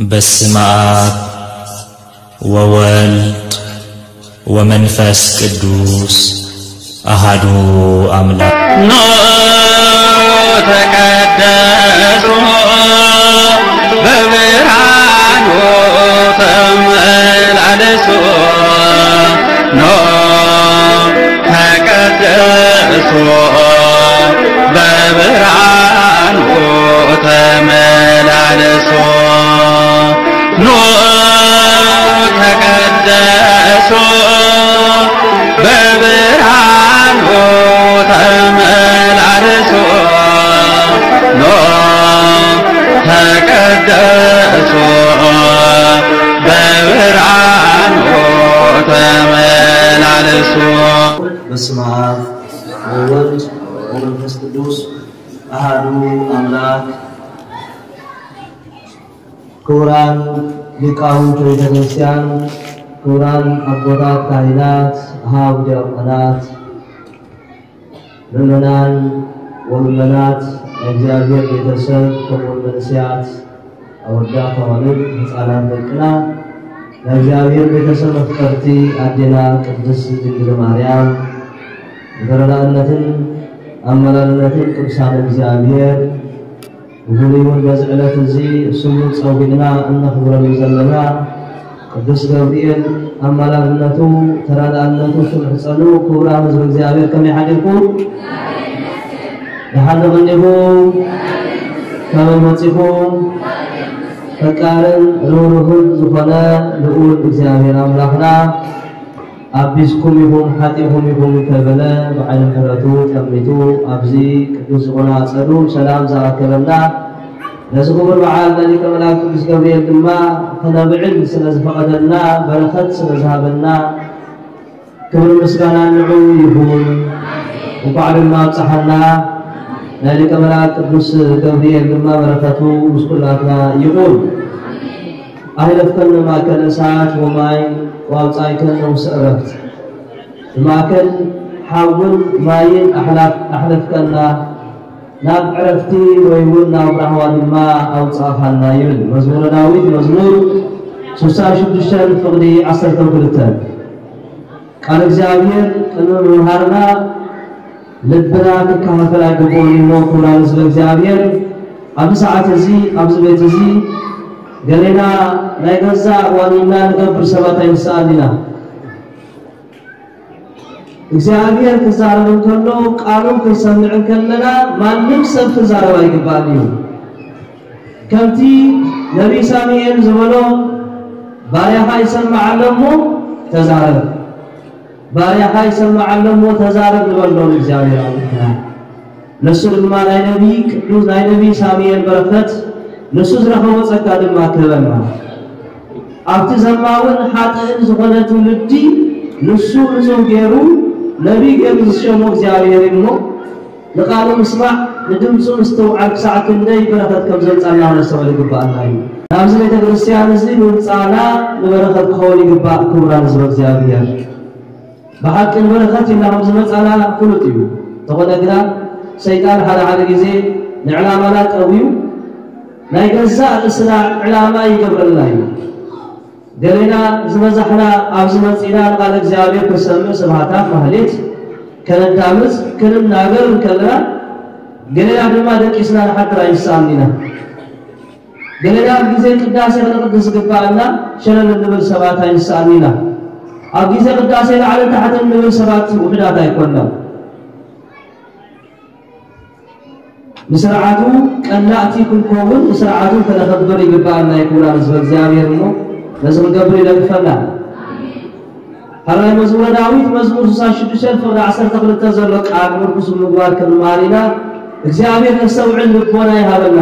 በስመ አብ ወወልድ ወመንፈስ ቅዱስ አሃዱ አምላክ። ኖ ተቀደሱ በብርሃኑ ተመላለሱ። ኖ ተቀደሱ በብርሃኑ ተመላለሱ። ኖ ተቀደሱ በብርሃኑ ተመላለሱ። ኖ ተቀደሱ በብርሃኑ ተመላለሱ። በስመ አብ ወወልድ ወመንፈስ ቅዱስ አሃዱ አምላክ። ክቡራን ሊቃውንት ቤተ ክርስቲያን፣ ክቡራን ኣቦታት ካህናት፣ ኣሃው ዲያቆናት፣ ምእመናን ወምእመናት፣ ናይ እግዚኣብሔር ቤተሰብ፣ ከምኡውን መንእሰያት፣ ኣወዳት፣ ኣዋልድ፣ ህፃናት ደቅና፣ ናይ እግዚኣብሔር ቤተሰብ መፍቀርቲ ኣዴና ቅድስት ድንግል ማርያም፣ ብተረዳእነትን ኣመላልነትን ቅዱሳን እግዚኣብሔር፣ ብፍሉይ እውን በዚ ዕለት እዚ ስሙ ጸዊዕና እነኽብረሉ ዘለና ቅዱስ ገብርኤል ኣማላድነቱ፣ ተራዳእነቱ፣ ሽምሕጸኑ ክቡራን ህዝቢ እግዚኣብሔር ከመይ ሓዲርኩም? ደሓን ዶ ቀኒኹም? ከመይ መጺኹም? ፈቃርን ርህሩህን ዝኾነ ልዑል እግዚኣብሔር ኣምላኽና ኣቢስኩም ኢኹም፣ ሓጢእኩም ኢኹም እንተበለ፣ ብዓይኒ ምሕረቱ ጠሚቱ ኣብዚ ቅዱስ ዝኾነ ኣጸዱ ሰላም ዝኣከበና፣ ነዚ ክቡር በዓል ናይ ሊቀ መላእክት ቅዱስ ገብርኤል ድማ ክነብዕል ስለ ዝፈቐደልና፣ በረኸት ስለ ዝሃበና፣ ክብሪ ምስጋና ንዑ ይኹን። እንኳዕ ድማ ኣብጽሓና። ናይ ሊቀ መላእክት ቅዱስ ገብርኤል ድማ በረኸቱ ምስ ኩላትና ይኹን። ኣህለፍከነ ማእከለ እሳት ወማይ ወኣውጻእከነ ውስተ ዕረፍት። ብማእከል ሓውን ማይን ኣሕላፍ-፣ ኣሕለፍከና፣ ናብ ዕረፍቲ ወይ እውን ናብ ራህዋ ድማ ኣውጻእኻና ይብል መዝሙረ ዳዊት መዝሙር ስሳ ሽዱሽተ ፍቕዲ ዓሰርተ ክልተ። ቃል እግዚኣብሔር ቅድሚ ምምሃርና ልብና ክከፋፈል ኣይግብኦን እዩ እሞ፣ ክቡራን ህዝበ እግዚኣብሔር፣ ኣብዚ ሰዓት እዚ፣ ኣብዚ ቤት እዚ፣ ገሌና ናይ ገዛእ ዋኒንና ንገብር ሰባት ኣይንስኣን ኢና። እግዚኣብሔር ክዛረብ እንከሎ፣ ቃሉ ክንሰምዕ እንከለና፣ ማንም ሰብ ክዛረብ ኣይግባእን እዩ። ከምቲ ነቢይ ሳሙኤል ዝበሎ፣ "ባርያኻ ይሰምዕ ኣሎ እሞ ተዛረብ፣ ባርያኻ ይሰምዕ ኣሎ እሞ ተዛረብ" ንበሎ ንእግዚኣብሔር ኣምላኽና። ንሱ ድማ ናይ ነቢይ ቅዱስ፣ ናይ ነቢይ ሳሙኤል በረኸት፣ ንሱ ዝረኸቦ ጸጋ ድማ ክህበና። ኣብቲ ዘማውን ሓጥእን ዝኾነ ትውልዲ ንሱ ንጹህ ገይሩ ነቢይ ገይሩ ዝሸሞ እግዚኣብሔር እዩ እሞ፣ ንቃሉ ምስማዕ፣ ንድምፁ ምስትውዓል ክሳዕ ክንደይ በረኸት ከም ዘምጻልና ክነስተውዕል ይግብኣና እዩ። ናብዚ ቤተ ክርስቲያን እዚ ምምጻእና ንበረኸት ክኸውን ይግባእ። ክቡራን ህዝበ እግዚኣብሔር፣ ብሓቂ ንበረኸት ኢልና ከም ዝመጻና ፍሉጥ እዩ። እንተኾነ ግና ሰይጣን ሓደ ሓደ ግዜ ንዕላማና ጠውዩ ናይ ገዛእ ርእስና ዕላማ ይገብረልና እዩ። ገሌና ዝበዛሕና ኣብዚ መጺና ንቃል እግዚኣብሔር ክንሰምዕ ስብሃታት ማህሌት ከነዳምጽ ክንናገር እንከለና፣ ገሌና ድማ ደቂስና ንሓድር ኣይንስኣን ኢና። ገሌና ኣብ ግዜ ቅዳሴ ክንቕድስ ዝግባኣና ሸለል እንብል ሰባት ኣይንስኣን ኢና። ኣብ ግዜ ቅዳሴ ላዕልን ታሕትን እንብል ሰባት ውሑዳት ኣይኮንና። ንስርዓቱ ቀናእቲ ክንከውን፣ ንስርዓቱ ከነኸብር ይግባኣና። ይኩና ህዝበ እግዚኣብሔር እሞ ነዚ ክንገብር ይደግፈና። ሕራይ መዝሙረ ዳዊት መዝሙር ስሳ ሽዱሽተ ፍቕዲ ዓሰርተ ክልተ ዘሎ ቃል ምርኩስ ምግባር ክንመሃር ኢና። እግዚኣብሔር ነስተውዕል ልቦና ይሃበና።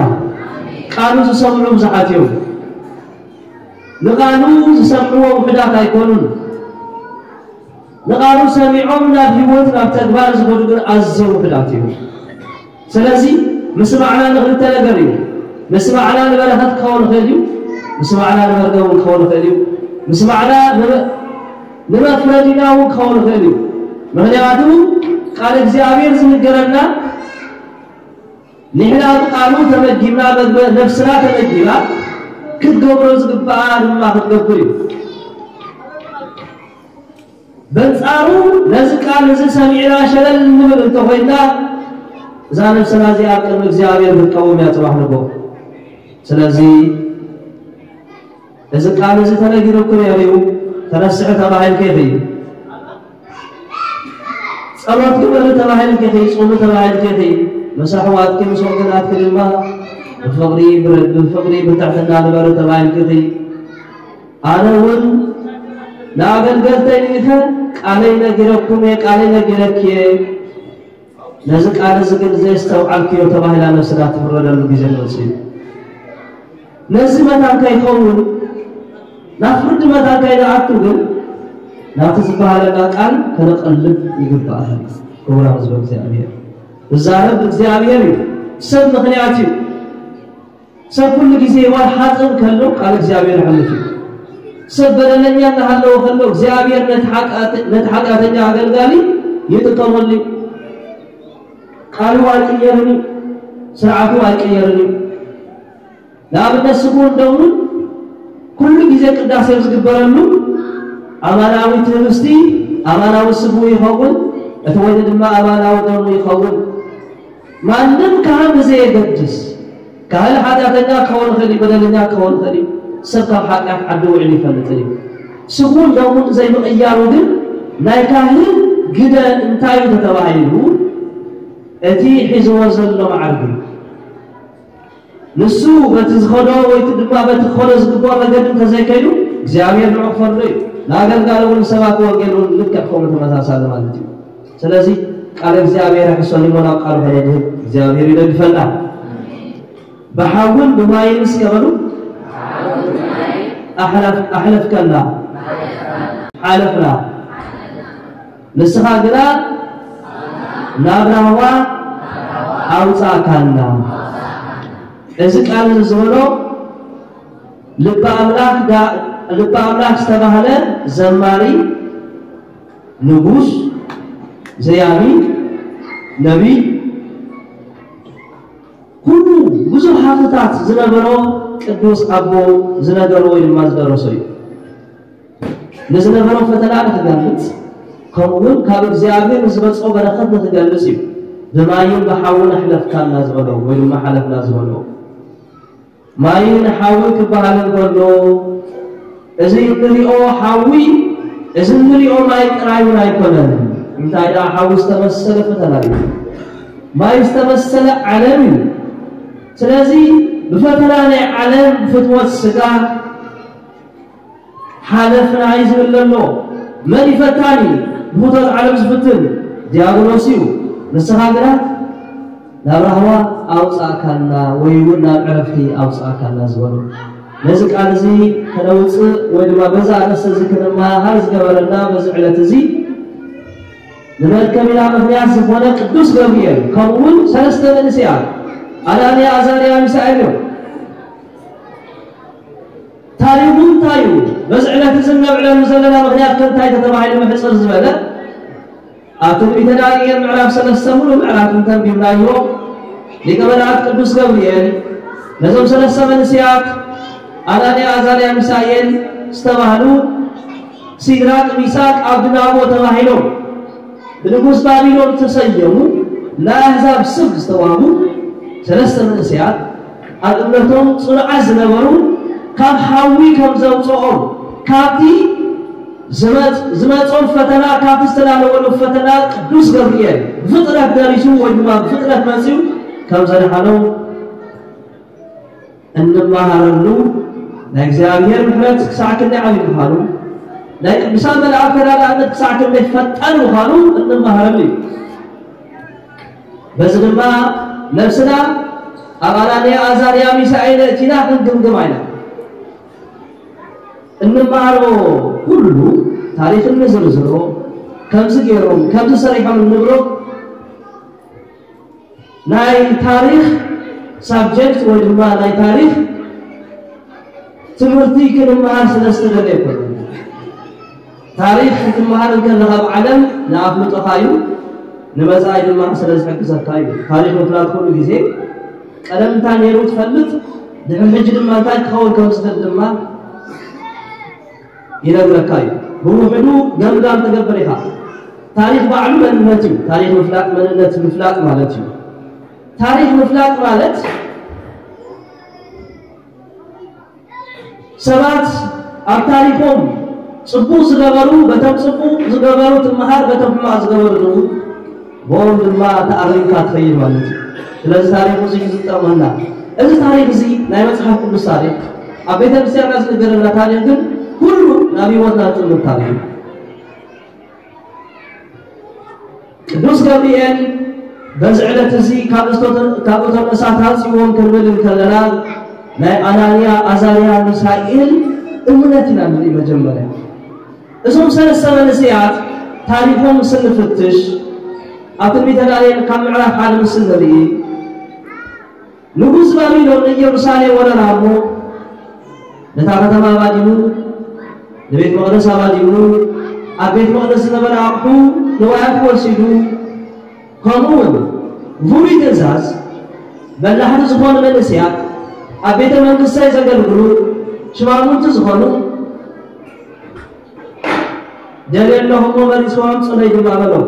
ቃሉ ዝሰምዑ ብዙሓት እዮም። ንቃሉ ዝሰምዕዎ ውሑዳት ኣይኮኑን። ንቃሉ ሰሚዖም ናብ ህይወት፣ ናብ ተግባር ዝኸዱ ግን ኣዝዮም ውሑዳት እዮም። ስለዚ ምስማዕና ንክልተ ነገር እዩ። ምስማዕና ንበረኸት ክኸውን ይኽእል እዩ። ምስማዕና ንመርገም እውን ክኸውን ይኽእል እዩ። ምስማዕና ንመ-፣ ንመፍረዲና እውን ክኸውን ይኽእል እዩ። ምኽንያቱ ቃል እግዚኣብሔር ዝንገረና ንሕና ብቃሉ ተመጊብና፣ መግበ-፣ ነፍስና ተመጊባ፣ ክትገብሮ ዝግባኣ ድማ ክትገብር እዩ። በንጻሩ ነዚ ቃል እዚ ሰሚዕና ሸለል ንብል እንተኾይንና፣ እዛ ነብስና እዚኣ ኣብ ቅድሚ እግዚኣብሔር ክትቀውም እያ ጽባሕ ንግሆ። ስለዚ እዚ ቃል እዚ ተነጊሩኩ ነይሩ እዩ፣ ተነስሒ ተባሂልኪ ኢኺ። ጸሎት ግበሪ ተባሂልኪ ኢኺ፣ ጹሚ ተባሂልኪ ኢኺ። ምስ ኣሕዋትኪ ምስ ወገናትኪ ድማ ብፍቕሪ ብር-፣ ብፍቕሪ ብትሕትና ንበሪ ተባሂልኪ ኢኺ። ኣነ እውን ንኣገልገልተይ ልኢኸ ቃለይ ነጊረኩም እየ፣ ቃለይ ነጊረኪ እየ። ነዚ ቃል እዚ ግን ዘየስተውዓልክዮ ተባሂላ ነብስና ትፍረደሉ ግዜ መጽኡ እዩ። ነዚ መታን ከይኸውን፣ ናብ ፍርዲ መታን ከይንኣቱ ግን፣ ናብቲ ዝበሃለና ቃል ከነቐልብ ይግባእ። ክቡር ህዝበ እግዚኣብሔር፣ ዝዛረብ እግዚኣብሔር እዩ። ሰብ ምኽንያት እዩ። ሰብ ኩሉ ግዜ ዋል ሓጥእ ከሎ ቃል እግዚኣብሔር ይሕልፍ እዩ። ሰብ በደለኛ እናሃለወ ከሎ እግዚኣብሔር ነቲ ሓጢኣተ-፣ ነቲ ሓጢኣተኛ ኣገልጋሊ ይጥቀመሉ እዩ። ቃሉ ኣይቅየርን እዩ። ስርዓቱ ኣይቅየርን እዩ። ንኣብነት ስጉን ደሙን ኩሉ ግዜ ቅዳሴ ዝግበረሉ ኣማናዊ ትህብስቲ፣ ኣማናዊ ስጉ ይኸውን፣ እቲ ወይኒ ድማ ኣማናዊ ደሙ ይኸውን። ማንም ካህን ብዘየገድስ፣ ካህን ሓጢኣተኛ ክኸውን ይኽእል እዩ፣ በደለኛ ክኸውን ይኽእል እዩ። ሰብ ካብ ሓጢኣት ዓዲ ውዒሉ ይፈልጥን እዩ። ስጉን ደሙን ዘይምቕያሩ ግን ናይ ካህን ግደ እንታይ እዩ ተተባሂሉ፣ እቲ ሒዝዎ ዘሎ መዓርግ እዩ። ንሱ በቲ ዝኸዶ ወይ ድማ በቲ ክኸዶ ዝግብኦ መገዲ እንተዘይከይዱ እግዚኣብሔር ንዑ ክፈርዶ እዩ። ንኣገልጋሊ እውን ንሰባኪ ወንጌል እውን ልክዕ ከምኡ ተመሳሳሊ ማለት እዩ። ስለዚ ቃል እግዚኣብሔር ኣሕሰሊሞ ናብ ቃሉ ከነድህብ እግዚኣብሔር ይደግፈና። ብሓውን ብማይን እስከ በሉ ኣሕለፍ-፣ ኣሕለፍከና፣ ሓለፍና። ንስኻ ግና ናብ ራህዋ ኣውጻእካና። እዚ ቃል እዚ ዝበሎ ልበ ኣምላኽ ዳ-፣ ልበ ኣምላኽ ዝተባህለ ዘማሪ ንጉስ፣ ዘያሚ፣ ነቢይ፣ ኩሉ ብዙሕ ሃብትታት ዝነበሮ ቅዱስ ኣቦ ዝነገሮ ወይ ድማ ዝደረሶ እዩ። ንዝነበሮ ፈተና ንክገልጽ፣ ከምኡውን ካብ እግዚኣብሔር ንዝመጽኦ በረኸት ንክገልጽ እዩ። ብማይን ብሓውን ኣሕለፍካና ዝበሎ ወይ ድማ ሓለፍና ዝበሎ። ማይን ሓዊ ክበሃል እንከሎ፣ እዚ እንሪኦ ሓዊ፣ እዚ እንሪኦ ማይ ጥራይ እውን ኣይኮነን። እንታይ ደኣ ሓዊ ዝተመሰለ ፈተና እዩ። ማይ ዝተመሰለ ዓለም እዩ። ስለዚ ብፈተና ናይ ዓለም ፍትወት ስጋ ሓለፍና እዩ ዝብል ዘሎ። መን እዩ ፈታኒ? ብፍትወት ዓለም ዝፍትን ዲያብሎስ እዩ። ንስኻ ግና ናብ ራህዋ ኣውጻእካና ወይ እውን ናብ ዕረፍቲ ኣውጻእካና ዝበሉ። ነዚ ቃል እዚ ከነውጽእ ወይ ድማ በዛ ኣርእስቲ እዚ ክንመሃር ዝገበረና በዚ ዕለት እዚ ንመርከቢና ምኽንያት ዝኾነ ቅዱስ ገብርኤል፣ ከምኡ እውን ሰለስተ መንእሰያት ኣናንያ፣ ኣዛርያ፣ ሚሳኤል እዮም። ታሪኹ እንታይ እዩ? በዚ ዕለት እዚ እነብዕለሉ ዘለና ምኽንያት ከ እንታይ ተተባሂሉ ምሕጽር ዝበለ? ኣብ ትንቢተ ዳንኤል ምዕራፍ ሰለስተ ሙሉእ ምዕራፍ እንተንቢብናዮ፣ ሊቀ መላእክት ቅዱስ ገብርኤል ነዞም ሰለስተ መንእሰያት ኣናንያ፣ ኣዛርያ፣ ሚሳኤል ዝተባህሉ ሲድራቅ፣ ሚሳቅ፣ ኣብድናጎ ተባሂሎም ብንጉስ ባቢሎን ዝተሰየሙ ናይ ኣህዛብ ስም ዝተዋህቡ ሰለስተ መንእሰያት ኣብ እምነቶም ጽኑዓት ዝነበሩ ካብ ሓዊ ከም ዘውፅኦም ካብቲ ዝመፅ-፣ ዝመፆም ፈተና ካብቲ ዝተላለወሉ ፈተና ቅዱስ ገብርኤል ብፍጥነት ደሪሱ ወይ ድማ ብፍጥነት መፂኡ ከም ዘድሓኖም እንመሃረሉ ናይ እግዚኣብሔር ምሕረት ክሳዕ ክንደይ ዓብዪ ምዃኑ ናይ ቅዱሳን መላእክት ተራዳእነት ክሳዕ ክንደይ ፈጣን ምዃኑ እንመሃረሉ እዩ። በዚ ድማ ነብስና ኣብ ኣናንያ፣ ኣዛርያ፣ ሚሳኤል እቲና ክንግምግም ኣይና እንመሃሮ ኩሉ ታሪኽ እንዝርዝሮ ከምዚ ገይሮም ከምዚ ሰሪሖም እንብሎ ናይ ታሪኽ ሳብጀክት ወይ ድማ ናይ ታሪኽ ትምህርቲ ክንመሃር ስለ ዝተደለ ኣይኮነን። ታሪኽ ክትመሃር እንከለኻ ኣብ ዓለም ንኣፍልጦኻ እዩ፣ ንመጻኢ ድማ ስለ ዝሕግዘካ እዩ። ታሪኽ ምፍላጥ ኩሉ ግዜ ቀደም እንታይ ነይሩ ትፈልጥ፣ ድሕሪ ሕጂ ድማ እንታይ ክኸውን ከም ዝኽእል ድማ ይነግረካ እዩ። ብውሕዱ ገምጋም ትገብር ኢኻ። ታሪኽ ባዕሉ መንነት እዩ። ታሪኽ ምፍላጥ መንነት ምፍላጥ ማለት እዩ። ታሪኽ ምፍላጥ ማለት ሰባት ኣብ ታሪኾም ጽቡቕ ዝገበሩ በቶም ጽቡቕ ዝገበሩ ትመሃር፣ በቶም ሕማቕ ዝገበሩ ድኡ ብኦም ድማ ተኣሪምካ ትኸይድ ማለት እዩ። ስለዚ ታሪኽ እዚ እዩ ዝጠቕመና። እዚ ታሪኽ እዚ ናይ መጽሓፍ ቅዱስ ታሪኽ ኣብ ቤተ ክርስቲያንና ዝነገረና ታሪኽ ግን ኩሉ ናብ ህይወትና ዝጥምር ታሪኽ እዩ። ቅዱስ ገብርኤል በዚ ዕለት እዚ ካብ እቶም ካብ እቶም እሳት ኣውፅዎም ክንብል እንከለና ናይ ኣናንያ ኣዛርያ ሚሳኤል እምነት ኢና ንርኢ። መጀመርያ እዞም ሰለስተ መንእሰያት ታሪኾም ምስ እንፍትሽ ኣብ ትንቢተ ዳንኤል ካብ ምዕራፍ ሓደ ምስ እንርኢ ንጉስ ባቢሎን ንኢየሩሳሌም ወረራ እሞ ነታ ከተማ ኣባዲሙ ንቤት መቕደስ ኣባዲሙ ኣብ ቤት መቕደስ ዝነበረ ኣቑሑ ንዋያት ወሲዱ ከምኡ እውን ብፍሉይ ትእዛዝ በላሕቲ ዝኾኑ መንእሰያት ኣብ ቤተ መንግስተይ ዘገልግሉ ሽማሙንቲ ዝኾኑ ደልየ ኣለኹ እሞ መሪፅዎም ፅለይ ድማ በሎም።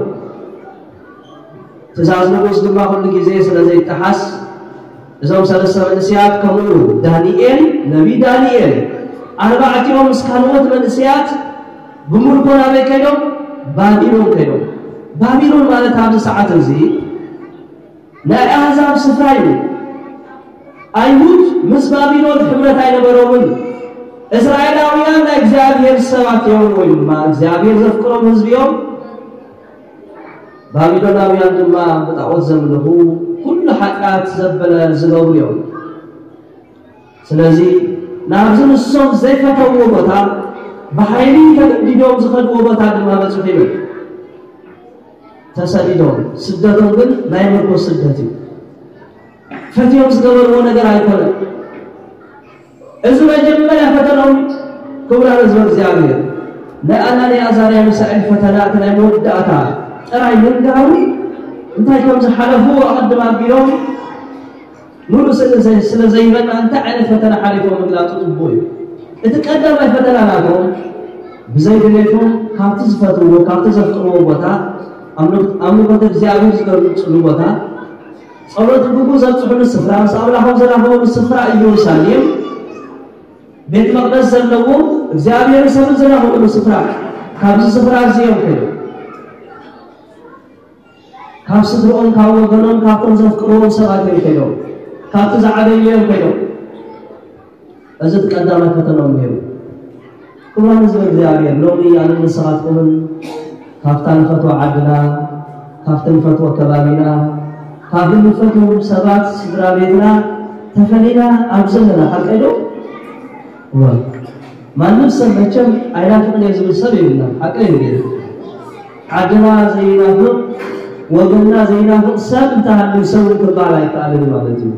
ትእዛዝ ንጉስ ድማ ኩሉ ግዜ ስለ ዘይጠሓስ እዞም ሰለስተ መንእሰያት ከምኡ ዳንኤል ነቢ ዳንኤል ኣርባዕቲኦም ምስ ካልኦት መንእሰያት ብምርኮ ናበይ ከይዶም? ባቢሎን ከይዶም። ባቢሎን ማለት ኣብዚ ሰዓት እዚ ናይ ኣህዛብ ስፍራ እዩ። ኣይሁድ ምስ ባቢሎን ሕብረት ኣይነበሮምን። እስራኤላውያን ናይ እግዚኣብሔር ሰባት እዮም ወይ ድማ እግዚኣብሔር ዘፍቅሮም ህዝቢ እዮም። ባቢሎናውያን ድማ ብጣዖት ዘምልኹ ኩሉ ሓጢኣት ዘበለ ዝገብሩ እዮም። ስለዚ ናብዚ ንሶም ዘይፈተውዎ ቦታ ብሓይሊ ተገዲዶም ዝኸድዎ ቦታ ድማ በፅሑ ይብል። ተሰዲዶም ስደቶም ግን ናይ ምርኮ ስደት እዩ። ፈትዮም ዝገበርዎ ነገር ኣይኮነን። እዚ መጀመርያ ፈተናዊ ክቡራን ህዝበ እግዚኣብሔር ናይ ኣናንያ ኣዛርያ ሚሳኤል ፈተና እቲ ናይ መወዳእታ ጥራይ ምንጋሩ እንታይ ከም ዝሓለፉ ኣቐድም ኣቢሎም ሙሉእ ስእሊ ስለ ዘይበና እንታይ ዓይነት ፈተና ሓሊፎም ምግላፁ ፅቡቅ እዩ። እቲ ቀዳማይ ፈተና ናቶም ብዘይ ድሌቶም ካብቲ ዝፈትዎ ካብቲ ዘፍቅርዎ ቦታ ኣምልኮተ እግዚኣብሔር ዝገልፅሉ ቦታ ጸሎት ክብሩ ዘብጽሑሉ ስፍራ ምስ ኣምላኾም ዘራኽቡሉ ስፍራ ኢየሩሳሌም ቤት መቕደስ ዘለዎ እግዚኣብሔር ሰብን ዘራኽቡሉ ስፍራ ካብዚ ስፍራ እዚ እዮም ከይዶም ካብ ስድርኦም ካብ ወገኖም ካብቶም ዘፍቅርዎም ሰባት እዮም ከይዶም ካብቲ ዝዓበዩ እዮም ከይዶም እዚ እቲ ቀዳማይ ፈተንኦም ነይሩ። ክቡራን ህዝቢ እግዚኣብሔር ሎሚ ኣነ ንስኻትኩምን ካብታ ንፈትዋ ዓድና ካብቲ ንፈትዎ ከባቢና ካብ እንፈትዎም ሰባት ስድራ ቤትና ተፈሊና ኣብ ዘለና ሓቀይ ዶ? እወ። ማንም ሰብ መቸም ኣይናፍቕን እየ ዝብል ሰብ የብልናን ሓቀይ እዩ። ዓድና ዘይናፍቕ ወገንና ዘይናፍቕ ሰብ እንተሃልዩ ሰብ እውን ክበሃል ኣይከኣልን ማለት እዩ።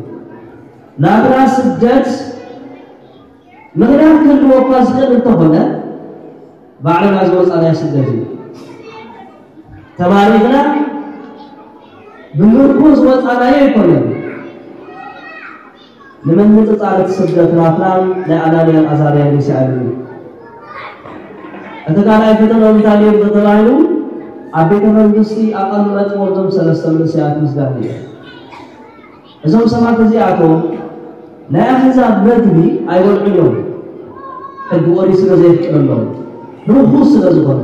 ናብራ ስደት ምኽንያት ክህልዎ እኳ ዝኽእል እንተኾነ ባዕልና ዝወፃናዮ ስደት እዩ። ተማሪኽና ብምርኮ ዝወፃናዮ ኣይኮነን። ንምንፅፃር እቲ ስደት ናትናን ናይ ኣናንያን ኣዛርያን ሚሳኤል እዩ። እቲ ካልኣይ ፈተና እንታይ ነይሩ ተተባሂሉ ኣብ ቤተ መንግስቲ ኣቐመጥዎ እዞም ሰለስተ መንእሰያት ምስ ዳንኤል እዞም ሰባት እዚኣቶም ናይ ኣህዛብ መግቢ ኣይበልዑን እዮም፣ ሕጊ ኦሪት ስለ ዘየፍቅደሎም፣ ርኹስ ስለ ዝኾነ።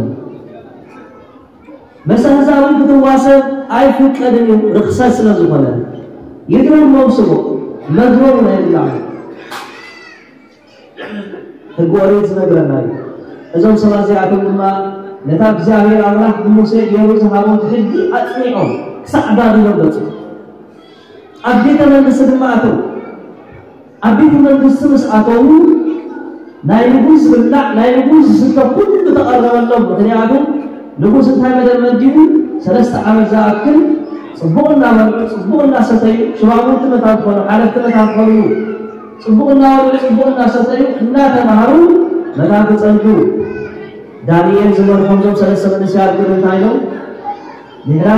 መሰ ኣህዛብ እውን ክትዋሰብ ኣይፍቀድን እዩ፣ ርኽሰት ስለ ዝኾነ። ይግረሞም ስሙ፣ መግቦም ናይ ብላዕ። ሕጊ ኦሪት ዝነግረና እዩ። እዞም ሰባት እዚኣቶም ድማ ነታ እግዚኣብሔር ኣምላኽ ብሙሴ ገይሩ ዝሃቦም ሕጊ ኣጽኒዖም ክሳዕ ባቢሎን በጽሑ። ኣብ ቤተ መንግስቲ ድማ ኣተው። ኣብ ቤተ መንግስቲ ምስ ኣተዉ ናይ ንጉስ ዝብላዕ ናይ ንጉስ ዝስተ ኩሉ ተቐረበሎም። ምክንያቱ ንጉስ እንታይ መደብ መዲቡ? ሰለስተ ዓመት ዝኣክል ጽቡቕ እናበልዑ ጽቡቕ እናሰተዩ ሽማሙንቲ መታን ክኾኑ ሓለፍቲ መታን ክኾኑ ጽቡቕ እናበልዑ ጽቡቕ እናሰተዩ እናተማሃሩ መታን ክጸንሑ። ዳንኤል ዝመርሖም ዞም ሰለስተ መንእሰያት ግን እንታይ ኢሎም? ድሕራ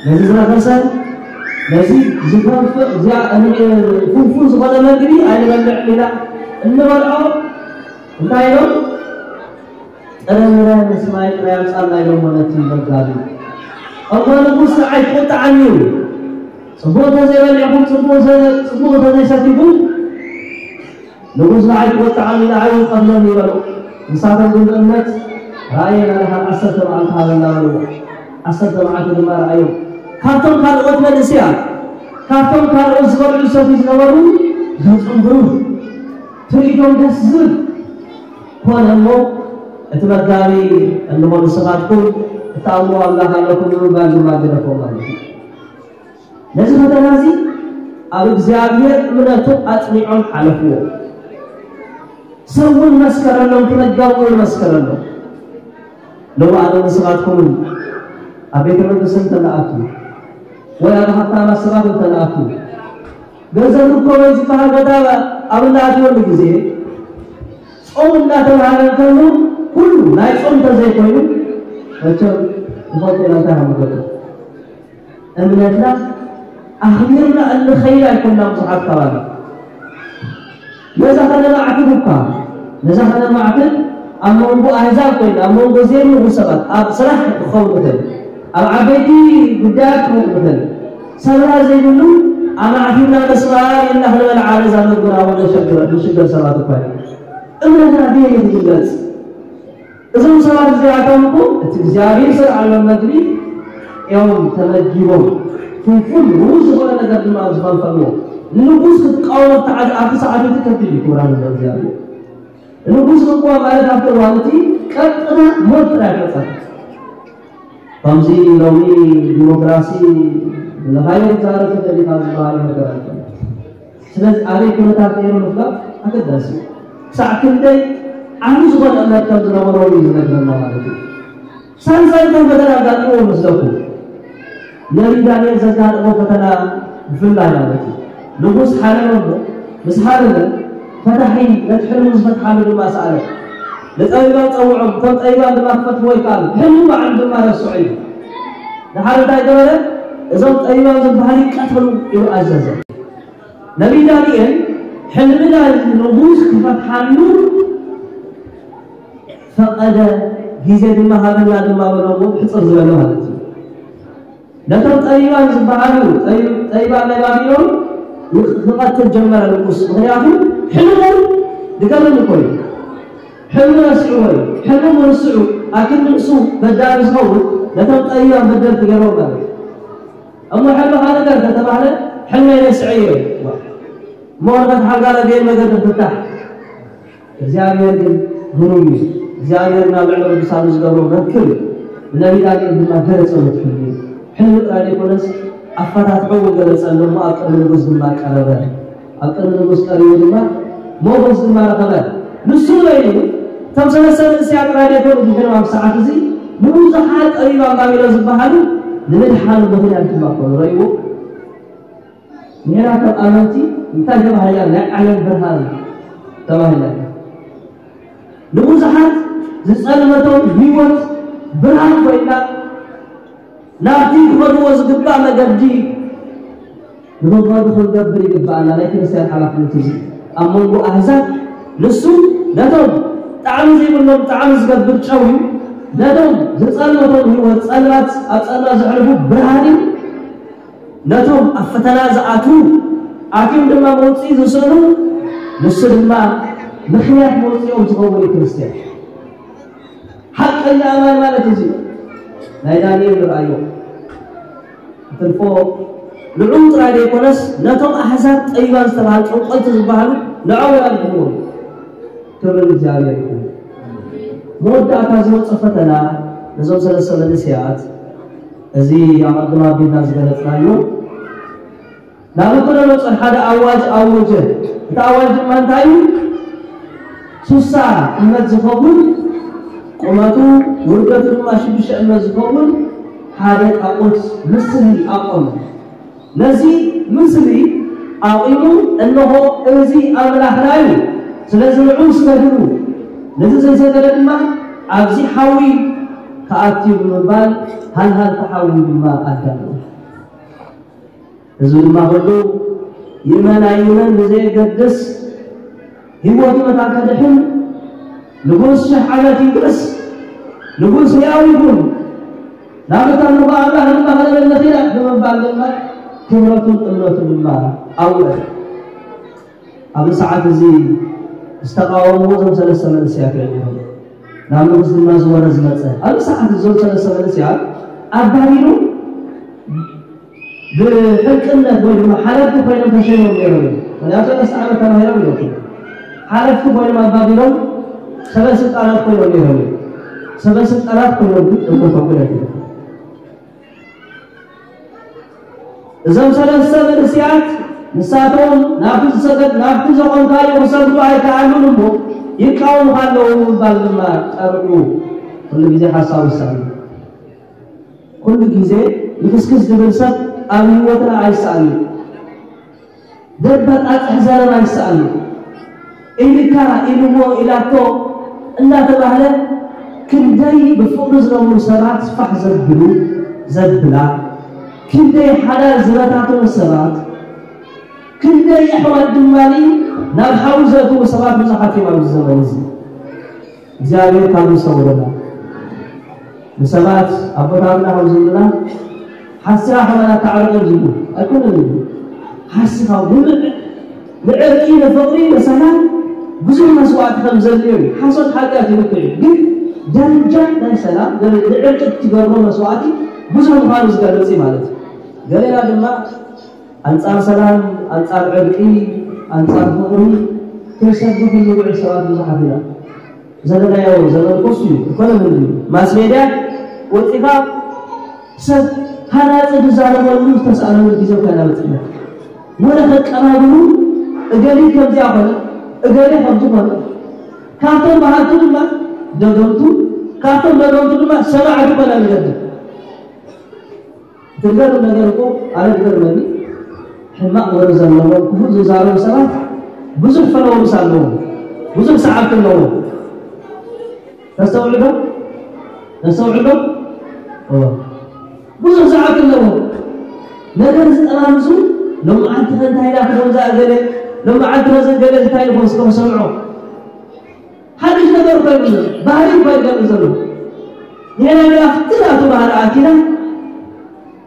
ነዚ ዝረኸሰ ነዚ ዝኸንፍእ፣ እዚኣ ፍንፉን ዝኾነ መግቢ ኣይንበልዕን ኢና። እንበልዖ እንታይ ኢሎም? ጥረ ምረ ምስ ማይ ጥራይ ኣምጻልና ኢሎሞ ነቲ መጋቢ። እሞ ንጉስ ንዓይ ክቁጥዓኒ እዩ። ጽቡቕ እንተዘይበሊዕኩም፣ ጽቡቕ ዘ-፣ ጽቡቕ እንተዘይሰቲኹም፣ ንጉስ ንዓይ ክቁጥዓኒ፣ ንዓይ እውን ቀትለኒ ይበሉ። ንሳቶም ግን ብእምነት፣ ራእየ ናድኻ ዓሰርተ መዓልቲ ሃበና በልዎ። ዓሰርተ መዓልቲ ድማ ረኣዮም። ካብቶም ካልኦት መንእሰያት፣ ካብቶም ካልኦት ዝበልዑ ዝሰትዩ ዝነበሩ ገጾም ብሩህ፣ ትርኢቶም ደስ ዝብል ኮነ። እሞ እቲ መጋቢ፣ እንሆ ንስኻትኩም እትኣምንዎ ኣምላኽ ኣለኩም ብምባል ድማ ገደፎም ማለት እዩ። ነዚ ፈተና እዚ ኣብ እግዚኣብሔር እምነቱ ኣጽኒዖም ሓለፍዎ። ሰብ እውን መስከረሎም፣ እቲ መጋቢ እውን መስከረሎም። ሎሚ ኣነ ንስኻትኩምን ኣብ ቤተ መንግስቲ እንተለኣቱ ወይ ኣብ ሃብታማት ሰባት እንተለኣቱ፣ ገንዘብ ርከቦ ዝበሃል ቦታ ኣብ እናኣትወሉ ግዜ፣ ጾም እናተባህለ እንከሎ፣ ኩሉ ናይ ጾም እንተዘይኮይኑ፣ መቸም ንፈልጦ ኢና እንታይ ከም ንገብር። እምነትና ኣኽቢርና እንኸይድ ኣይኮንና ብዙሓት ካባና። ነዛ ከነማዕብል እኳ፣ ነዛ ከነማዕብል ኣብ መንጎ ኣህዛብ ኮይና፣ ኣብ መንጎ ዘይምርኡ ሰባት፣ ኣብ ስራሕ ክኸውን ይኽእል፣ ኣብ ዓበይቲ ጉዳያት ክኸውን ይኽእል። ሰብራ ዘይብሉ ኣማዕቢልና ነስምዓ ኢልና ክንበልዓ ነዛ መግብና እውን ነሸግር፣ ንሽገር ሰባት እኳ ኢና። እምነትና ብየይ ዝግለጽ? እዞም ሰባት እዚኣቶም እኮ እቲ እግዚኣብሔር ዝሰርዓሎም መግቢ እዮም ተመጊቦም። ፍንፉን ርኡይ ዝኾነ ነገር ድማ ዝፈልፈልዎ። ንንጉስ ክትቃወሞ እተዓዝ-፣ ኣብቲ ሰዓት እቲ ከቢድ እዩ፣ ክቡራን ህዝበ እግዚኣብሔር። ንጉስ ክትቃወም ማለት ኣብቲ እዋን እቲ ቀጥታ ሞት ጥራይ ፈጸመ። ከምዚ ሎሚ ዲሞክራሲ ንኻየድ ዛረብ ተደሊኻ ዝበሃል ነገር ኣይኮነን። ስለዚ ኣበይ ኩነታት ነይሩ ምፍላጥ ኣገዳሲ እዩ። ክሳዕ ክንደይ ዓቢ ዝኾነ እምነት ከም ዝነበሮ እዩ ዝነግረና ማለት እዩ። ሳልሳይ ከም ፈተና ኣጋጢሞ መስለኩም? ነቢይ ዳንኤል ዘጋጠሞ ፈተና ብፍላይ ማለት እዩ። ንጉስ ሓለመ እሞ፣ ምስ ሓለመ ፈታሒ ነቲ ሕልሙ ዝፈትሓሉ ድማ ሰኣለ። ንጠቢባን ጸውዖም፣ እቶም ጠቢባን ድማ ክፈትሕዎ ይከኣሉ። ሕልሙ ባዕሉ ድማ ረስዖ እዩ። ድሓር እንታይ ገበረ? እዞም ጠቢባን ዝበሃሉ ይቀተሉ ኢሉ ኣዘዘ። ነቢይ ዳንኤል ሕልሚ ናይ ንጉስ ክፈትሓሉ ፈቐደ፣ ግዜ ድማ ሃበና ድማ በሎ፣ ሕጽር ዝበለ ማለት እዩ። ነቶም ጠቢባን ዝበሃሉ፣ ጠቢ-፣ ጠቢባን ናይ ባቢሎን ይቕ-፣ ክቐትል ጀመረ ንጉስ። ምኽንያቱ ሕልሙ ዝገርም እኮ እዩ። ሕልሙ ረሲዕዎ እዩ። ሕልሙ ርስዑ፣ ኣክል ንሱ በዳሊ ዝኸውን፣ ነቶም ጠቢባን በደልቲ ገይርዎም ማለት እዩ። እሞ ሕልምኻ ንገር ተተባህለ፣ ሕልመይ ረሲዐዮ እዩ። እሞ ወረቐት ሓጋለ ቤት መገዲ ፍታሕ። እግዚኣብሔር ግን ግሩም እዩ። እግዚኣብሔር ናብ ልዕሊ ቅዱሳኑ ዝገብሮ መክር እዩ። ንነቢይ ዳንኤል ድማ ገለጸሉ እቲ ሕልሚ። ሕልሚ ጥራይ ዘይኮነስ፣ ኣፈታትሑ እውን ገለጸሉ። እሞ ኣብ ቅድሚ ንጉስ ድማ ቀረበ። ኣብ ቅድሚ ንጉስ ቀሪቡ ድማ ሞገስ ድማ ረኸበ። ንሱ በይኑ፣ እቶም ሰለስተ መንእሰያት ጥራይ ዘይኮኑ ድሒሮም ኣብ ሰዓት እዚ ንብዙሓት ጠቢባን ባቢሎን ዝበሃሉ ንምድሓኑ ምኽንያት ድማ ኮኑ። ረእይዎ። ንሕና ከም ኣመንቲ እንታይ ተባሂልና? ናይ ዓለም ብርሃን ተባሂልና ኢና። ንብዙሓት ዝጸልመቶም ህይወት ብርሃን ኮይና፣ ናብቲ ክኸድዎ ዝግባእ መገዲ ንኽኸዱ ክንገብር ይግባኣና። ናይ ክርስትያን ሓላፍነት እዚ ኣብ መንጎ ኣህዛብ፣ ንሱ ነቶም ጣዕሚ ዘይብሎም ጣዕሚ ዝገብር ጨው እዩ። ነቶም ዝጸልመቶም ህይወት ጸልማት፣ ኣብ ጸልማት ዘሕልፉ ብርሃን እዩ። ነቶም ኣብ ፈተና ዝኣትዉ፣ ኣትዮም ድማ መውጽኢ ዝስእኑ፣ ንሱ ድማ ምኽንያት መውጽኦም ዝኸውን እዩ ክርስትያን። ሓቀኛ ኣማን ማለት እዚ ናይ ዳንኤል ንርኣዮ። ክትልፎ ንዕኡ ጥራይ ዘይኮነስ፣ ነቶም ኣሕዛብ ጠቢባን ዝተባህሉ ጠንቆልቲ ዝበሃሉ ንዕኦም ኣድሕንዎም። ክብሪ ንእግዚኣብሔር ይኹን። መወዳእታ ዝመጾ ፈተና ነዞም ሰለስተ መንእሰያት፣ እዚ ኣቐድም ኣቢልና ዝገለጽናዮ፣ ናቡከደነጾር ሓደ ኣዋጅ ኣወጀ። እቲ ኣዋጅ ድማ እንታይ እዩ? ሱሳ እመት ዝኸውን፣ ቁመቱ ውርደቱ ድማ ሽዱሽተ እመት ዝኸውን ሓደ ጣዖት ምስሊ ኣቆመ። ነዚ ምስሊ ኣቑሙ፣ እንሆ፣ እዚ ኣምላኽና እዩ፣ ስለዚ ንዑ ስገድሉ፣ ነዚ ዘይሰገደ ድማ ኣብዚ ሓዊ ክኣቱ እዩ ብምባል ሃልሃልቲ ሓዊ ድማ ኣዳለወ። ህዝቢ ድማ ኩሉ ይእመን ኣይእመን ብዘየገድስ፣ ህይወቱ መታን ከድሕን፣ ንጉስ ሽሕ ዓመት ይንግስ፣ ንጉስ ህያው ይኹን፣ ናብ እታ ንጉ ኣምላኽ ድማ ክነመልኽ ኢና ብምባል ድማ ክብረቱን እምነቱን ድማ ኣውረደ። ኣብዚ ሰዓት እዚ ዝተቃወምዎ እዞም ሰለስተ መንእሰያት እዮም ነይሮም። ናብ ንጉስ ድማ ዝወረ ዝመጸ። ኣብዚ ሰዓት እዞም ሰለስተ መንእሰያት ኣብ ባቢሎን ብሕልቅነት ወይ ድማ ሓለፍቲ ኮይኖም ተሸይሞም ነይሮም እዮም። ምክንያቱ ሰለስተ ዓመት ተማሂሮም እዮም። ሓለፍቲ ኮይኖም ኣብ ባቢሎን ሰበ ስልጣናት ኮይኖም ነይሮም እዮም። ሰበ ስልጣናት ኮይኖም ግን እምነቶም ግን ኣይተደፍን። እዞም ሰለስተ መንእሰያት ንሳቶም ናብቲ ዝሰገድ ናብቲ ዘቆምካዮ ክሰግዱ ኣይከኣሉን እሞ ይቃወሙኻ ኣለዉ ምባል ድማ ጠርዑ። ኩሉ ግዜ ሓሳቡ ይሳሉ። ኩሉ ግዜ ልክስክስ ዝብል ሰብ ኣብ ህይወትና ኣይሰኣልን። ደባጣጥሕ ዘረባ ይሰኣል። ኢልካ ኢልዎ ኢላቶ እናተባህለ ክንደይ ብፍቕሪ ዝነብሩ ሰባት ፋሕ ዘብሉ ዘብላ፣ ክንደይ ሓዳር ዝበታተኑ ሰባት፣ ክንደይ ኣሕዋት ድማ ናብ ሓዊ ዘእትዉ ሰባት ብዙሓት እዮም ኣብዚ ዘመን እዚ። እግዚኣብሔር ካብ ዝሰውረና። ንሰባት ኣቦታትና ከም ዝብሉና ሓስኻ ከማን ኣታዕርቕ እዮም ዝብሉ። ኣይኮነን እዩ። ሓስኻ ንምዕ ንዕርቂ ንፍቕሪ ንሰላም ብዙሕ መስዋዕቲ ከም ዘድልዮ እዩ። ሓሶት ሓጢኣት ይልክዕ እዩ። ግን ደረጃ ናይ ሰላም ንዕርቂ እትገብሮ መስዋዕቲ ብዙሕ ምዃኑ ዝገልጽ እዩ ማለት እዩ። ገሌና ድማ ኣንጻር ሰላም፣ ኣንጻር ዕርቂ፣ ኣንጻር ፍቕሪ ክንሰብኽ እንውዕል ሰባት ብዙሓት ኢና። ዘለናዮ ዘመን ኮሱ እዩ። እኮነ ምን እዩ? ማስ ሜድያ ወጺኻ ሰብ ሃናጺ ዝዛረበሉ ዝተሳእለሉ ግዜ እኮ ኢና በጺሕና። ወረ ከቀባብሉ እገሌ ከምዚኣ ኮነ፣ እገሌ ከምዚ ኮነ። ካብቶም በሃልቱ ድማ ደገምቱ፣ ካብቶም ደገምቱ ድማ ሰማዕቲ ኮነ ንገድል። ትገርም ነገር እኮ ኣነ ትገርመኒ ሕማቕ ወረ ዘለዎም ክፉእ ዝዛረቡ ሰባት ብዙሕ ፈለወርስ ኣለዎም፣ ብዙሕ ሰዓብቲ ኣለዎም። ተስተውዕዶ ተስተውዕዶ ብዙሕ ሰዓብቲ ኣለዎም። ነገር ዝጠማምሱ ሎምዓንቲ ከ እንታይ ኢላ ክኾን ዝኣገለ ሎምዓንቲ ከ ዘገለ እንታይ ይኾን ስለ ክሰምዖ ሓድሽ ነገር እኮ የብሉን። ባህሪ እኮ ይገብር ዘሎ። ንሕና ግን ኣብቲ ናቱ ባህሪ ኣቲና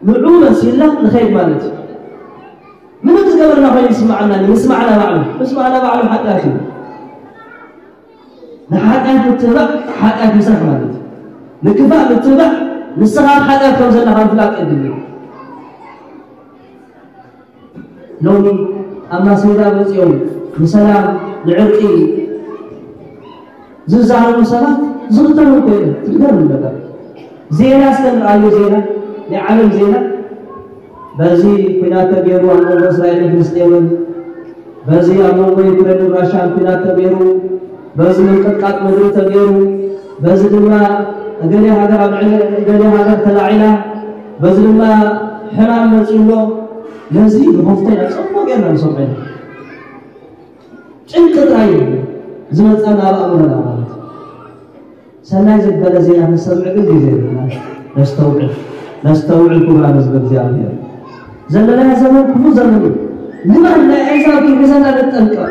ንዑ መሲልና ንኸይድ ማለት እዩ። ምንም ዝገበርና ኮይኑ ይስማዓና፣ ምስማዕና ባዕሉ፣ ምስማዕና ባዕሉ ሓጢኣት እዩ። ንሓጢኣት ምትብባዕ ሓጢኣት ምስራሕ ማለት እዩ። ንክፋእ ምትብባዕ ንስኻ ኣብ ሓጢኣት ከም ዘለኻ ምፍላጥ የድሊ እዩ። ሎሚ ኣብ ማስሜዳ መጺኦም ንሰላም ንዕርቂ ዝዛረቡ ሰባት ዝኽተሉ ኮይኖም ትግደሉ ነገር ዜና እስከ ንርኣዮ ዜና ናይ ዓለም ዜና በዚ ኩናት ተገይሩ ኣብ መንጎ እስራኤልን ፍልስጤምን በዚ ኣብ መንጎ ዩክሬንን ራሻን ኩናት ተገይሩ በዚ ምንቅጥቃጥ ምድሪ ተገይሩ በዚ ድማ እገሌ ሃገር ኣብ ልዕሊ እገሌ ሃገር ተላዒላ በዚ ድማ ሕማም መፂኡ ኣሎ። ነዚ ብኸፍተና ፅቡቕ ጌርና ንሰምዖ ኢና። ጭንቂ ጥራይ እዩ ዝመፀና ኣብ ኣእምሮና ማለት እዩ። ሰናይ ዝበለ ዜና ክንሰምዕ ግን ግዜ የብልና። ነስተውዕል ነስተውዕል ክቡራን ህዝቢ እግዚኣብሔር። ዘለናዮ ዘመን ክፉእ ዘመን እዩ። ልማድ ናይ ኣሕዛብ ከይሕዘና ንጠንቀቕ።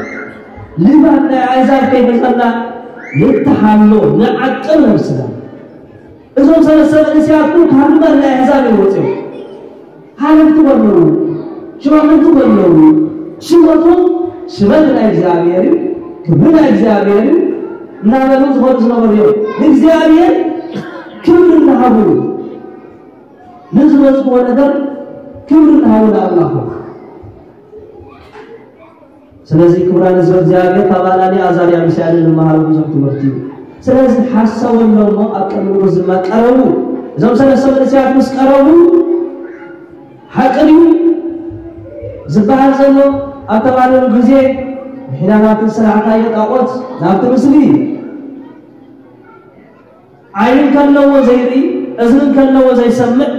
ልማድ ናይ ኣሕዛብ ከይሕዘና ንተሓሎ ንዓቅብ ነብስና። እዞም ሰለስተ መንእሰያት ኩን ካብ ልማድ ናይ ኣሕዛብ እዮም ወፂኦም። ሓለፍቲ በለዉ፣ ሽማምንቲ በለዉ፣ ሽመቶም ሽመት ናይ እግዚኣብሔር እዩ፣ ክብሪ ናይ እግዚኣብሔር እዩ እናበሉ ዝኾኑ ዝነበሩ እዮም። ንእግዚኣብሔር ክብሪ እናሃቡ ንዝመፅዎ ነገር ክብሪ እናሃቡ ንኣምላኹ። ስለዚ ክቡራን ህዝቢ እግዚኣብሔር ካብ ኣናንያ ኣዛርያ ሚሳኤልን ንመሃሮ ብዙሕ ትምህርቲ እዩ። ስለዚ ሓሰወሎም እሞ ኣብ ቅድሚ ንጉስ ድማ ቀረቡ። እዞም ሰለስተ መንእሰያት ምስ ቀረቡ ሓቂ ድዩ ዝበሃል ዘሎ ኣብ ተባለሉ ግዜ ብሒላታትን ስራሕታዮ ጣዖት ናብቲ ምስሊ ዓይኒ ከለዎ ዘይርኢ፣ እዝኒ ከለዎ ዘይሰምዕ፣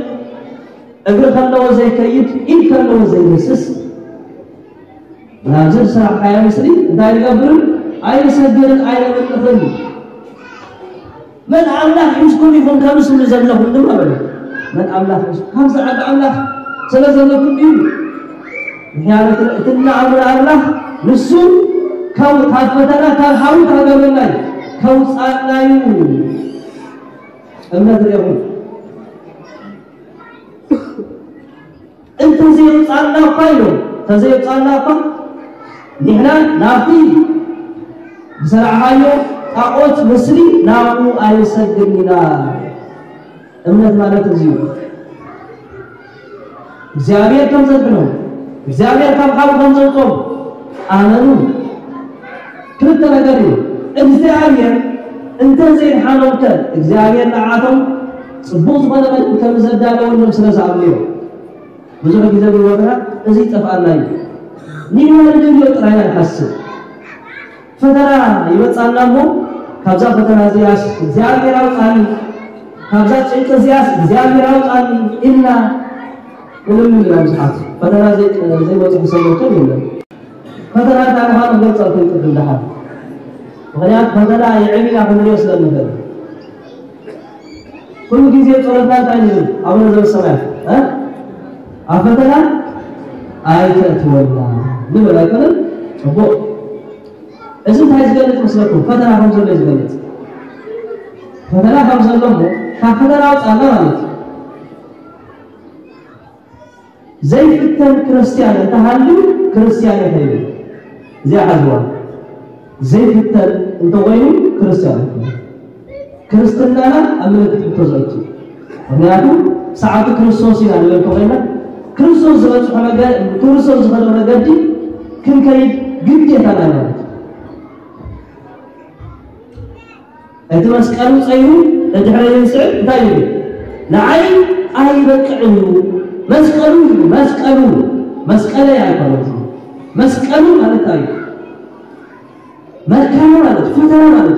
እግሪ ከለዎ ዘይከይድ፣ ኢድ ከለዎ ዘይደስስ፣ ናብዚ ዝሰራሕካዮ ምስሊ እንታይ ንገብርን ኣይንሰግርን ኣይነምልኽን። መን ኣምላኽ ሒዝኩም ኢኹም ከምስሉ ዘለኹም ድማ በለ። መን ኣምላኽ ሒዝኩም? ከምዚ ዓቢ ኣምላኽ ስለ ዘለኩም እዩ። ምክንያቱ እቲ እናኣምር ኣምላኽ ንሱ ካብ ፈተና ካብ ሓዊ ካገበናይ ከውፃናዩ እምነት ርኹም እንተዘይውፃና እኳ ኢሉ እንተዘይውፃና እኳ ንሕና ናብቲ ዝሰራሕኻዮ ጣዖት ምስሊ ናብኡ ኣይንሰግድን ኢና። እምነት ማለት እዚ እዩ። እግዚኣብሔር ከም ዘድሕኖም እግዚኣብሔር ካብ ሓዊ ከም ዘውፅኦም ኣመኑ። ክልተ ነገር እዩ። እግዚኣብሔር እንተዘይድሓኖም ከ እግዚኣብሔር ንዓቶም ፅቡቅ ዝኾነ መልእክቲ ከም ዘዳለወሎም ስለ ዝኣምኑ እዮም። ብዙሕ ግዜ ብህይወትና እዚ ይጠፍኣና እዩ። ንሕና ንደልዮ ጥራይ ኢና ንሓስብ። ፈተና ይመጻና እሞ ካብዛ ፈተና እዚኣስ እግዚኣብሔር ኣውጻኒ፣ ካብዛ ጭንቂ እዚኣስ እግዚኣብሔር ኣውጻኒ ኢልና ንልምን ኢና ብዙሓት። ፈተና ዘይመጽእ ሰብ መቸም የለን። ፈተና እንታይ ምዃኑ ክገልጸልኩም ቅድም ደሓን። ምኽንያቱ ፈተና ይዕብ ኢና ክንሪኦ ስለ ንኽእል። ኩሉ ግዜ ጸሎትና እንታይ ንብል? ኣቡነ ዘበሰማያት ኣብ ፈተና ኣይተእትወና ንብል ኣይኮነን? ጽቡቕ። እዚ እንታይ ዝገልጽ መስለኩም? ፈተና ከም ዘሎ እዩ ዝገልጽ። ፈተና ከም ዘሎ እሞ ካብ ፈተና ኣውጻና ማለት እዩ። ዘይፍተን ክርስትያን እንተሃልዩ ክርስትያን ይኸይድ። እዚኣ ሓዝዋ። ዘይፍተን እንተኾይኑ ክርስትያን ይኸይድ። ክርስትናና ኣብ ምልክት ሕቶ ዘእቱ። ምክንያቱ ሰዓቱ ክርስቶስ ኢና ንብል እንተኾይና ክርስቶስ ዝበፅሖ መገ- ክርስቶስ ዝኸዶ መገዲ ክንከይድ ግዴታና እዩ ማለት እዩ። እቲ መስቀሉ ጸይሩ ንድሕረይ ዝስዕብ እንታይ እዩ? ንዓይ ኣይበቅዕን እዩ። መስቀሉ እዩ፣ መስቀሉ፣ መስቀለይ ኣይኮነን። መስቀሉ ማለት እንታይ እዩ? መከራ ማለት፣ ፈተና ማለት፣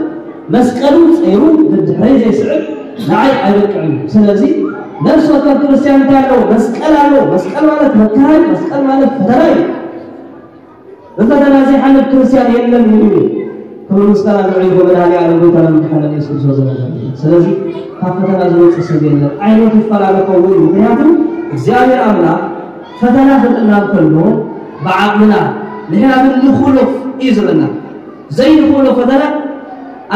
መስቀሉ ጸይሩ ንድሕረይ ዘይስዕብ ንዓይ ኣይበቅዕን እዩ። ስለዚ ነፍሲ ወከፍ ክርስትያን እንታይ ኣለዎ? መስቀል ኣለዎ። መስቀል ማለት መከራ እዩ። መስቀል ማለት ፈተና እዩ። ብፈተና ዘይሓልፍ ክርስትያን የለን ኢሉ እዩ። ክብሪ ምስጋና ንዕኡ ይኹን መድኃኔ ዓለም ጎይታና መድኃኒና ኢየሱስ ክርስቶስ ዘመን። ስለዚ ካብ ፈተና ዝወፅእ ሰብ የለን። ዓይነቱ ይፈላለ ከውን እዩ። ምክንያቱ እግዚኣብሔር ኣምላኽ ፈተና ክልእና እንከሎ ብዓቕምና ንሕና ግን ንኹሎ እዩ ዝብለና። ዘይንኹሎ ፈተና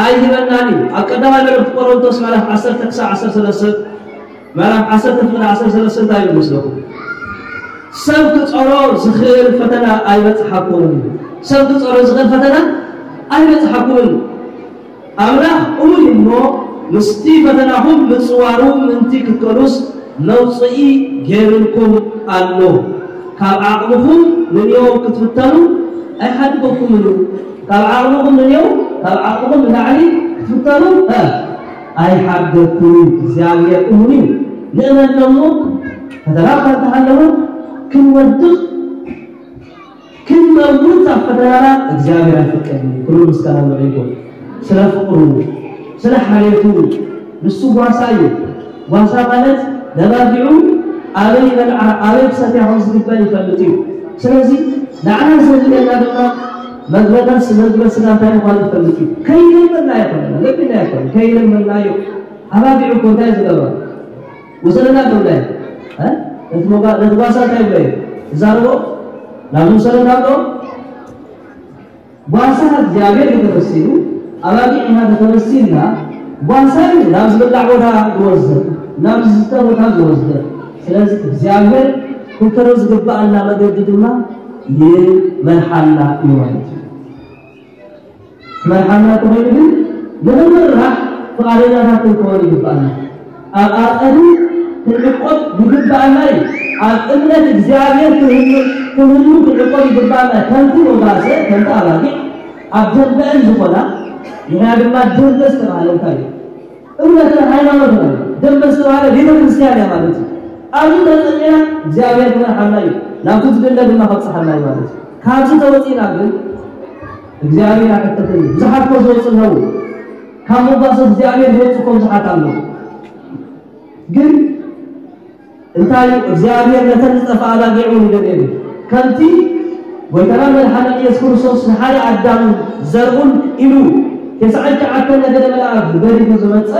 ኣይህበናን እዩ። ኣብ ቀዳማይ መልእኽቲ ቆሮንቶስ ምዕራፍ ዓሰርተ ክሳብ ዓሰርተ ሰለስተ ምዕራፍ ዓሰርተ ፍቕዲ ዓሰርተ ሰለስተ እንታይ ይብል መስለኩም? ሰብ ክጸሮ ዝኽእል ፈተና ኣይበጽሓኩምን እዩ። ሰብ ክጸሮ ዝኽእል ፈተና ኣይበጽሓኩምን። ኣምላኽ እሙን እዩ እሞ ምስቲ ፈተናኹም ምጽዋሩ ምእንቲ ክትከሉስ መውጽኢ ገይሩልኩም ኣሎ። ካብ ዓቕምኹም ንንየው ክትፍተኑ ኣይሓድገኩምን እዩ። ካብ ዓቕምኹም ንንየው ካብ ዓቕምኹም ንላዕሊ ክትፍተኑ እ ኣይሓድገኩምን እዩ። እግዚኣብሔር እሙን እዩ። ንእመን እሞ ፈተና እኳ እንተሃለወ ክንወድቕ ክንመውት ኣብ ፈተናና እግዚኣብሔር ኣይፈቅድን እዩ። ክብሪ ምስጋና ንዕኡ ይኹን። ስለ ፍቕሩ ስለ ሓልየቱ ንሱ ጓሳ እዩ። ጓሳ ማለት ነባጊዑ ኣበይ ይበልዓ ኣበይ ክሰትያ ከም ዝግበን ይፈልጥ እዩ። ስለዚ ንዓና ዘድልየና ድማ መግበ ነፍሲ መግበ ስጋ እንታይ ምዃኑ ይፈልጥ እዩ። ከይለመና ኣይኮነን ለሚና ኣይኮነን ከይለመናዮ ኣባጊዑ እኮ እንታይ ዝገብራ ውሰደና ተብላይ ነቲ ጓሳ እንታይ ብለ ይዛረቦ ናብ ውሰደና ብሎ ጓሳ እግዚኣብሔር እዩ ተመሲሉ። ኣባጊዕ ኢና ተተመሲልና። ጓሳ እዩ ናብ ዝብላዕ ቦታ ዝወስደን ናብ ዝስተ ቦታ ዝወስደን። ስለዚ እግዚኣብሔር ክንከዶ ዝግባኣና መገዲ ድማ ይመርሓና እዩ ማለት እዩ። ክመርሓና እንተኾይኑ ግን ንምምራሕ ፍቓደኛታት ክንከውን ይግባኣና። ኣብ ኣጸዱ ክንዕቆብ ይግባኣና እዩ። ኣብ እምነት እግዚኣብሔር ክንህሉ ክንዕቆብ ይግባኣና። ከምቲ ወጋሰ ከምቲ ኣባጊዕ ኣብ ደንበአን ዝኾና ንሕና ድማ ደንበ ዝተባህለ እንታይ እዩ? እምነትን ሃይማኖትን ደንበ ዝተባህለ ቤተ ክርስቲያን እያ ማለት እዩ። ኣብዚ ተጸሚና እግዚኣብሔር ክመርሓና እዩ። ናብቲ ዝድለ ድማ ከብጽሓና እዩ ማለት እዩ። ካብዚ ተወጺና ግን እግዚኣብሔር ኣይሕተትን እዩ። ብዙሓት እኮ ዝወፁ ኣለዉ። ካብ መጓሰ እግዚኣብሔር ዝወፁ እኮ ብዙሓት ኣለዉ። ግን እንታይ እግዚኣብሔር ነተን ዝጠፍኣ ኣባጊዕ እውን ይደልየን ከምቲ ጎይታና መድሓና ኢየሱስ ክርስቶስ ንሓደ ኣዳም ዘርኡን ኢሉ ተስዓን ትሽዓተን ነገደ መላእክት ገዲፉ ዝመፀ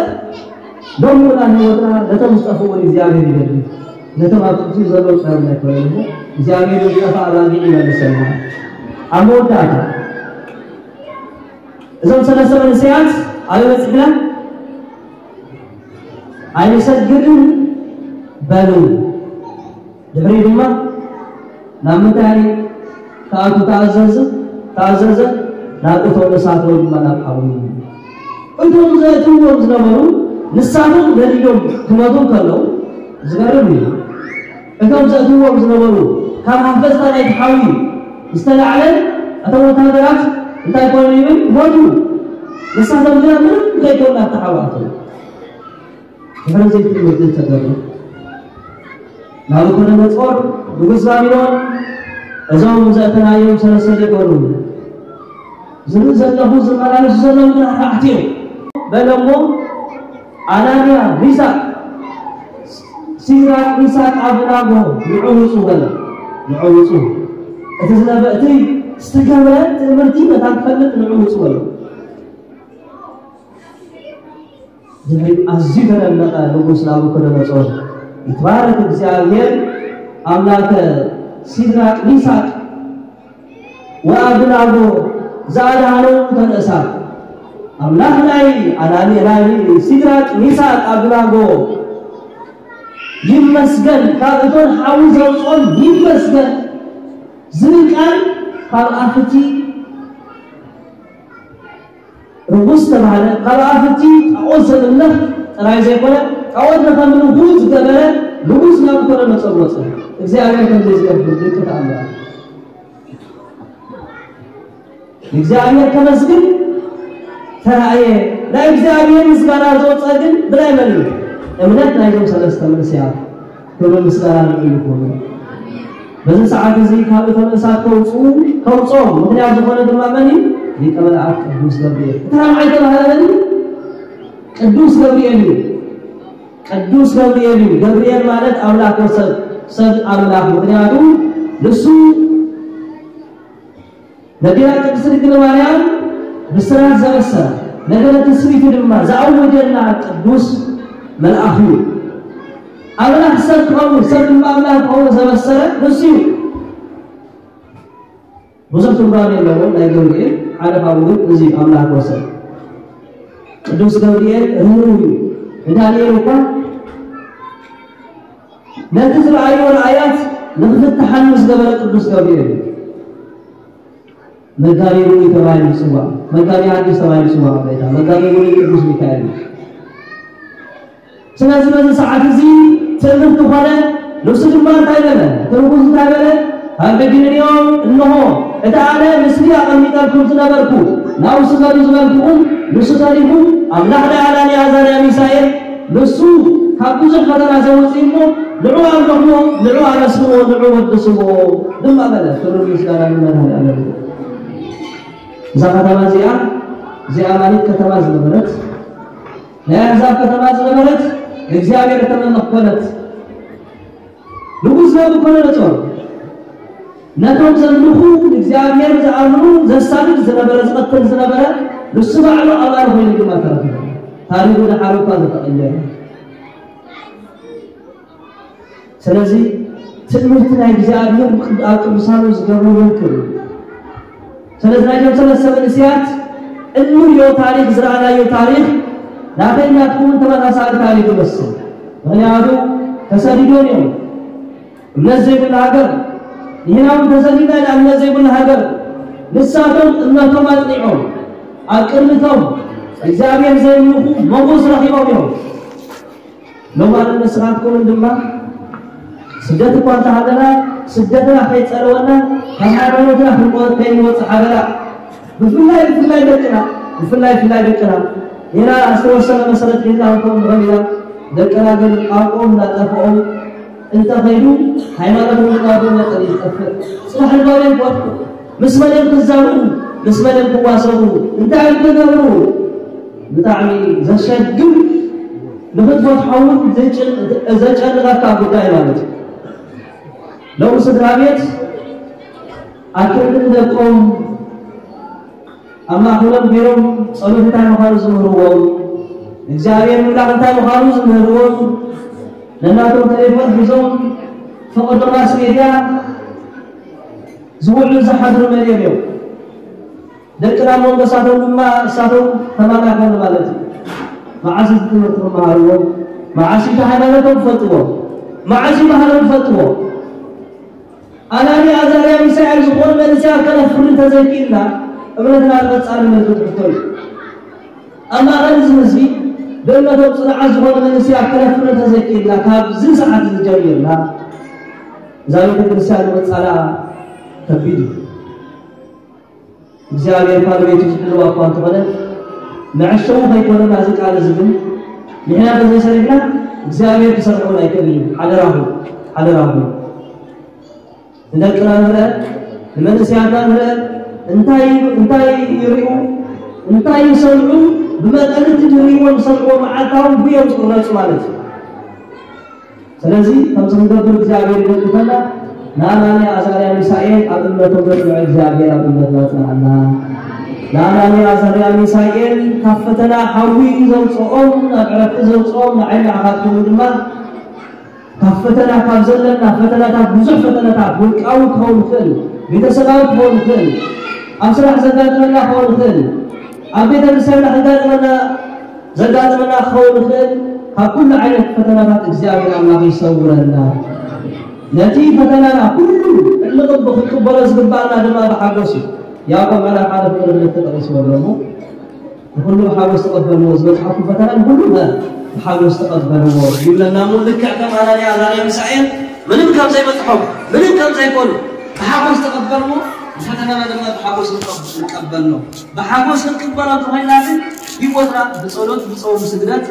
ሎም ውላን ህይወትና ነቶም ዝጠፍኡ እውን እግዚኣብሔር ይደሊ ነቶም ኣብ ትሕቲ ዘለዉ ጥራይ ኣይኮነን እሞ እግዚኣብሔር ዝጠፍኣ ኣባጊዕ ይመልሰልና። ኣብ መወዳእታ እዞም ሰለስተ መንእሰያት ኣበይ በፂሕና? ኣይንሰግድን በሉ። ድሕሪ ድማ ናብ ምንታይ ክኣቱ ተኣዘዘ? ተኣዘዘ? ናብ እቶን እሳት ወይ ድማ ናብ ሓዊ። እቶም ዘእትዎም ዝነበሩ ንሳቶም ነዲዶም ክመቱ ከለዉ ዝገርም እዩ። እቶም ዘእትዎም ዝነበሩ ካብ ሃፈዝታ ናይቲ ሓዊ ዝተላዕለ እቶም ወታደራት እንታይ ኮኑ ይብል? ሞቱ። ንሳቶም ግና ምንም ከይኮኑ ናብቲ ሓዊ ኣተዉ። ድሕሪ እዚ ትእምርቲ ተገብረ። ናቡከደነፆር ንጉስ ባቢሎን እዞም ዘእተናዮም ሰለስተ ዘይኮኑ ዝርኢ ዘለኹ ዝመላለሱ ዘለዉ ግን ኣርባዕተ እዮም በለ እሞ ኣናንያ፣ ሚሳቅ፣ ሲድራቅ፣ ሚሳቅ፣ ኣብደናጎ ንዑ ውፁ በለ። ንዑ ውፁ። እቲ ዝነበ እቲ ዝተገብረ ትእምርቲ ነታ ትፈልጥ ንዑ ውፁ በለ። ድሕሪ ኣዝዩ ተደነቐ ንጉስ ናቡከደነፆር። ይትባረክ እግዚኣብሔር ኣምላከ ሲድራቅ ሚሳቅ ወኣብደናጎ ዘኣድሃኖም እተን እሳት ኣምላኽ ናይ ኣናኒ ናይ ሲድራቅ ሚሳቅ ኣብደናጎ ይመስገን፣ ካብ እቶን ሓዊ ዘውፅኦም ይመስገን ዝብል ቃል ካብ ኣፍቲ ርጉስ ተባህለ። ካብ ኣፍቲ ጣዖት ዘምልኽ ጥራይ ዘይኮነ ጣዖት ንኸምልኹ ዝገበረ ንጉስ ናቡከደነፆር ወፀ። እግዚኣብሔር ከምዚ ዝገብር ድንቂ ተኣምራት እግዚኣብሔር ከመስግን ተራእየ። ናይ እግዚኣብሔር ምስጋና ዝወፀ ግን ብናይ መን እዩ? እምነት ናይዞም ሰለስተ መንእሰያት። ክብሪ ምስጋና ንዕኡ ይኹን። በዚ ሰዓት እዚ ካብ እቶን እሳት ከውፅኡ ከውፅኦም ምኽንያት ዝኾነ ድማ መን እዩ? ሊቀ መላእክት ቅዱስ ገብርኤል። እቲ ራብዓይ ተባህለ መን እዩ? ቅዱስ ገብርኤል እዩ። ቅዱስ ገብርኤል እዩ። ገብርኤል ማለት ኣምላክ ወሰብ ሰብ ኣምላክ። ምኽንያቱ ንሱ ነዴና ቅድስት ድንግል ማርያም ብስራት ዘበሰረ ነገረ ትስብእቲ ድማ ዘኣወጀልና ቅዱስ መልኣኽ እዩ። ኣምላኽ ሰብ ክኸውን ሰብ ድማ ኣምላኽ ክኸውን ዘበሰረ ንሱ እዩ። ብዙሕ ትርጓሜ ኣለዎ ናይ ገብርኤል። ሓደ ካብኡ ግን እዚ ኣምላኽ ወሰብ ቅዱስ ገብርኤል ርህሩህ እዩ። ንዳንኤል እኳ ነቲ ዝረኣዮ ራእያት ንክፍትሓሉ ዝገበረ ቅዱስ ገብርኤል እዩ። መጋቤ ብሉይ ተባሂሉ ይፅዋዕ፣ መጋቤ ሐዲስ ተባሂሉ ይፅዋዕ። ኣቦይታ መጋቤ ብሉይ ቅዱስ ሚካኤል እዩ። ስለዚ በዚ ሰዓት እዚ ትእምርቲ ኮነ። ንሱ ድማ እንታይ በለ? እቲ ንጉስ እንታይ በለ? ካብ ሕጂ ንንዮም እንሆ እቲ ኣነ ምስሊ ኣቐሚጠልኩም ዝነበርኩ ናብኡ ስገዱ ዝበልኩኹም ንሱ ተሪፉ ኣምላኽ ናይ ኣናንያ ኣዛርያ ሚሳኤል ንሱ ካብ ብዙሕ ፈተና ዘውፅእ እሞ ንዑ ኣምልኽዎ፣ ንዑ ኣመስግንዎ፣ ንዑ ወድስዎ ድማ በለ። ክብሪ ምስጋና ንመድኃኔዓለም። እዛ ከተማ እዚኣ እዚኣ ማለት ከተማ ዝነበረት ናይ ኣሕዛብ ከተማ ዝነበረት ንእግዚኣብሔር እተመልኽ ኮነት። ንጉስ ናቡከደነፆር ነቶም ዘምልኹ ንእግዚኣብሔር ዝኣምኑ ዘሳድድ ዝነበረ ዝቐትል ዝነበረ ንሱ ባዕሉ ኣባል ኮይኑ ድማ ተረኺቡ። ታሪኹ ድሓር እኳ ዝተቐየረ። ስለዚ ትእምርቲ ናይ እግዚኣብሔር ኣብ ቅዱሳኑ ዝገብሩ ይንክር። ስለዚ ናይቶም ሰለስተ መንእስያት እንሪኦ ታሪክ ዝረኣናዮ ታሪክ ናተይ ናትኩምን ተመሳሳሊ ታሪክ ይመስል። ምክንያቱ ተሰዲዶም እዮም። እምነት ዘይብሉ ሃገር ንሕና እውን ተሰዲድና ኢና እምነት ዘይብሉ ሃገር። ንሳቶም እምነቶም ኣፅኒዖም ኣብ ቅድሚቶም እግዚኣብሔር ዘምልኹ ሞጎስ ረኪቦም እዮም። ሎማንን ንስኻትኩምን ድማ ስደት እኳ እንተሃለና ስደትና ከይፀለወና ካብ ሃይማኖትና ክንወ- ከይንወፅእ ሓደራ። ብፍላይ ብፍላይ ደቅና ብፍላይ ብፍላይ ደቅና ሌላ ዝተወሰነ መሰረት ሒዝና ክንከውን ንኽእል ኢና። ደቅና ግን ቋንቋኦም እናጠፍኦም እንተኸይዱ ሃይማኖት እውን እናጎለጠ ይጠፍእ። ፅባሕ ንባርዮም ክወድቁ ምስ መን እዮም ክዛረቡ? ምስ መን እዮም ክዋሰቡ? እንታይ እዮም ክገብሩ? ብጣዕሚ ዘሸግር ንኽትፈትሖ እውን ዘጨንቐካ ጉዳይ ማለት እዩ። ሎም ስድራ ቤት ኣክርድን ደቆም ኣብ ማእከሎም ገይሮም ጸሎት እንታይ ምዃኑ ዝምህርዎም እግዚኣብሔር ምላኽ እንታይ ምዃኑ ዝምህርዎም ነናቶም ተሌፎን ሒዞም ፈቐዶ ማስ ሜድያ ዝውዕሉ ዝሓድሩ መን እዮም? ደቅና መንጎሳቶም ድማ እሳቶም ተማላኾም ማለት እዩ። መዓስ እዚ ትምህርቲ ክመሃርዎ፣ መዓስ እቲ ሃይማኖቶም ክፈልጥዎ፣ መዓስ ባህሎም ክፈልጥዎ። ኣናንያ ኣዛርያ ሚሳኤል ዝኾኑ መንእሰያት ከነፍሪ እንተዘይክኢልና እምነትና ብቐጻሊ ምልክት ሕቶ እዩ። ኣብ ማእኸል እዚ ህዝቢ ብእምነቶም ጽኑዓት ዝኾኑ መንእሰያት ከነፍሪ እንተዘይክኢልና ካብዚ ሰዓት እዚ ጀሚርና እዛ ቤተ ክርስቲያን ንምጻላ ከቢድ እዩ። እግዚኣብሔር እኳ ንቤቱ ዝሕልዋ እኳ እንተኾነ መዐሸዊ ከይኮነና እዚ ቃል እዚ ግን ንሕና ተዘይሰሪሕና እግዚኣብሔር ክሰርሕ እውን ኣይክእልን እዩ። ሓደራኹም፣ ሓደራኹም። ንደቅና ንርአ፣ ንመንእሰያትና ንርአ። እንታይ እንታይ ይሪኡ፣ እንታይ ይሰምዑ፣ ብመጠን እቲ ዝሪእዎ ዝሰምዕዎ መዓልታዊ ብዮም ዝቕረጹ ማለት እዩ። ስለዚ ከምዚ ክንገብር እግዚኣብሔር ይደግፈና። ንኣናንያ ኣዛርያ ሚሳኤል ኣብ እምነቶም ዘጽንዖ እግዚኣብሔር ኣብ እምነትና ጽንዓና። ንኣናንያ ኣዛርያ ሚሳኤል ካብ ፈተና ሓዊ ዘውፅኦም፣ ናብ ዕረፍቲ ዘውፅኦም ንዓይ ንዓኻትኩም ድማ ካብ ፈተና፣ ካብ ዘለና ፈተናታት፣ ብዙሕ ፈተናታት፣ ውልቃዊ ክኸውን ይኽእል፣ ቤተሰባዊ ክኸውን ይኽእል፣ ኣብ ስራሕ ዘጋጥመና ክኸውን ይኽእል፣ ኣብ ቤተክርስትያንና ከጋጥመና ዘጋጥመና ክኸውን ይኽእል። ካብ ኩሉ ዓይነት ፈተናታት እግዚኣብሔር ኣምላኽ ይሰውረና። ነቲ ፈተናና ኩሉ ዕልቕ ክንቅበሎ ዝግባኣና ድማ ብሓጎስ እዩ። ያዕቆብ ምዕራፍ ሓደ ፍቕሪ ክልተ ጠቒስዎ ኣሎ እሞ፣ ንኹሉ ብሓጎስ ተቐበልዎ፣ ዝበጽሓኩም ፈተና ንኹሉ ብሓጎስ ተቐበልዎ ይብለና እሞ፣ ልክዕ ከም ኣናንያ ኣዛርያ ሚሳኤል ምንም ከም ዘይበጽሖም፣ ምንም ከም ዘይኮኑ ብሓጎስ ተቐበልዎ፣ ፈተናና ድማ ብሓጎስ ንቀብ-፣ ንቀበሎ። ብሓጎስ ክንቅበሎ እንተኾይንና ግን ህይወትና ብጸሎት፣ ብጾም፣ ብስግደት፣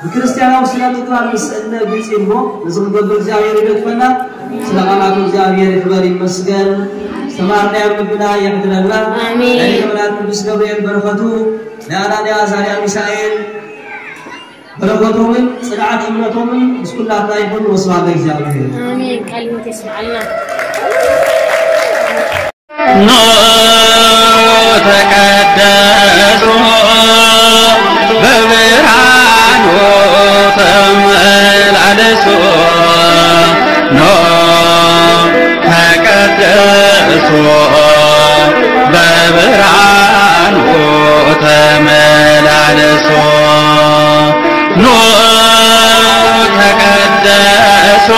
ብክርስትያናዊ ስነ ምግባር ምስ እነ ግልጺ እሞ፣ እዚ ክንገብር እግዚኣብሔር ይደግፈና። ስለ ቃላቱ እግዚኣብሔር ይክበር ይመስገን። ዝተማርናዮ ልብና የሕድረና። ኣሜን። ናይ ሊቀ መላእክት ቅዱስ ገብርኤል በረኸቱ፣ ናይ ኣናንያ ኣዛርያ ሚሳኤል በረኸቶምን ጽንዓት እምነቶምን ምስ ኩላትና ይኹን። ወስብሐት ለእግዚኣብሔር። ኣሜን። ቃለ ሕይወት የስምዓልና። ኑ ተቀደሱ በብርሃኑ ተመላለሱ። ኑ ተቀደሱ በብርሃኑ ተመላለሱ። ኑ ተቀደሱ